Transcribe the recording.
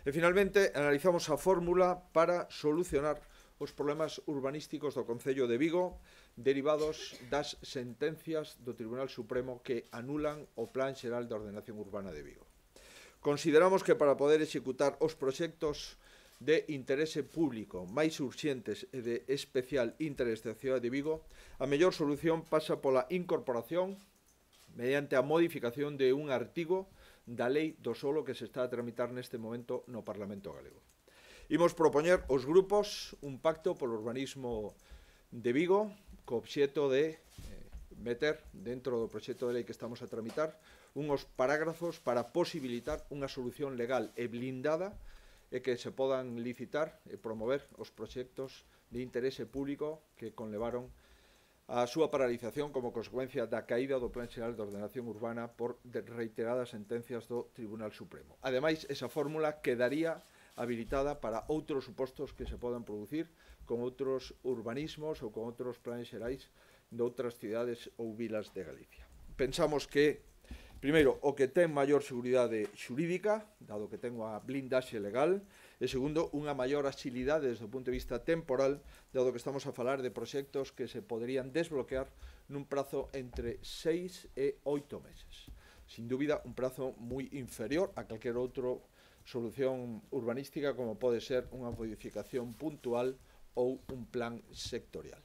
E, finalmente, analizamos a fórmula para solucionar os problemas urbanísticos do Concello de Vigo derivados das sentencias do Tribunal Supremo que anulan o Plan Xeral de Ordenación Urbana de Vigo. Consideramos que para poder executar os proxectos de interese público máis urxentes e de especial interés da cidade de Vigo, a mellor solución pasa pola incorporación mediante a modificación de un artigo da Lei do Solo que se está a tramitar neste momento no Parlamento galego. Imos propoñer aos grupos un pacto polo urbanismo de Vigo co obxeto de meter dentro do proxecto de lei que estamos a tramitar unhos parágrafos para posibilitar unha solución legal e blindada e que se podan licitar e promover os proxectos de interese público que conlevaron a súa paralización como consecuencia da caída do Plan Xeral de Ordenación Urbana por reiteradas sentencias do Tribunal Supremo. Ademais, esa fórmula quedaría habilitada para outros supostos que se podan producir con outros urbanismos ou con outros planes xerais de outras cidades ou vilas de Galicia. Pensamos que, primeiro, o que ten maior seguridade xurídica, dado que ten unha blindaxe legal, e segundo, unha maior axilidade desde o punto de vista temporal, dado que estamos a falar de proxectos que se poderían desbloquear nun prazo entre 6 e 8 meses. Sin dúbida, un prazo moi inferior a calquer outro solución urbanística como pode ser unha modificación puntual ou un plan sectorial.